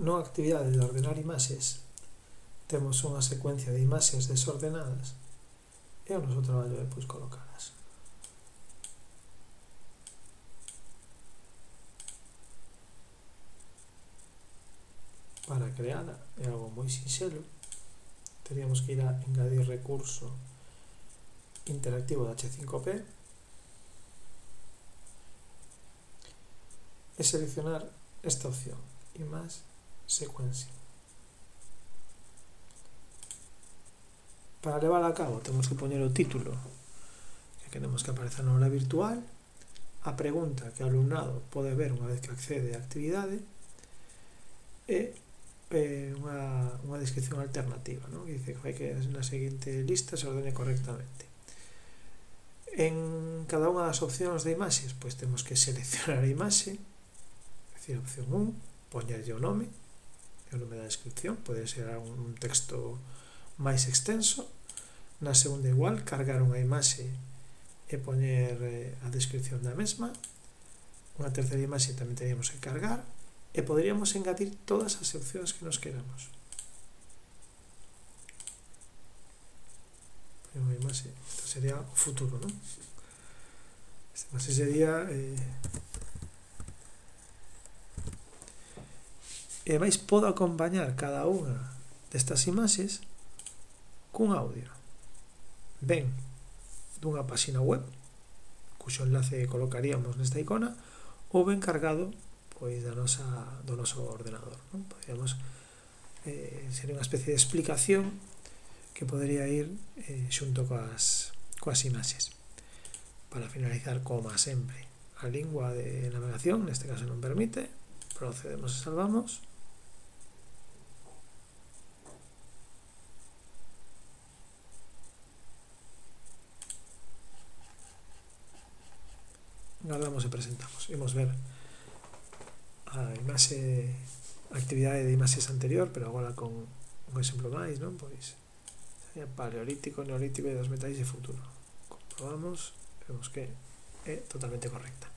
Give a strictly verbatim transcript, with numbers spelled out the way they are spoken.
nunha actividade de ordenar imaxes temos unha secuencia de imaxes desordenadas e o noso traballo é pois colocalas. Para creala é algo moi sinxelo, teríamos que ir a engadir recurso interactivo de hache cinco pe e seleccionar esta opción, Image Sequencing. Para levar a cabo temos que poñer o título que queremos que apareza na aula virtual, a pregunta que o alumnado pode ver unha vez que accede á actividade e eh, unha, unha descripción alternativa, ¿no? Que dice que fai que na seguinte lista se ordene correctamente. En cada unha das opcións de imaxes pois temos que seleccionar a imaxe, é dicir, a opción un, poñerlle o nome e o nome da descripción, pode ser un texto máis extenso. Na segunda igual, cargar unha imaxe e poñer eh, a descripción da mesma. Unha terceira imaxe tamén teríamos que cargar e poderíamos engadir todas as opcións que nos queramos. Unha imaxe, isto sería o futuro, non? Esta imaxe sería eh, e máis podo acompañar cada unha destas imaxes cun audio, ben dunha páxina web cuxo enlace colocaríamos nesta icona ou ben cargado pois da nosa, do noso ordenador, non? Podríamos, eh, sería unha especie de explicación que podría ir eh, xunto coas, coas imaxes. Para finalizar, como sempre, a lingua de navegación, neste caso non permite, procedemos e salvamos. Guardamos e presentamos. Imos ver a imaxe, a actividade de imaxes anterior, pero agora con un exemplo máis, non? Pois sería paleolítico, neolítico e dos metais de futuro. Comprobamos, vemos que é totalmente correcta.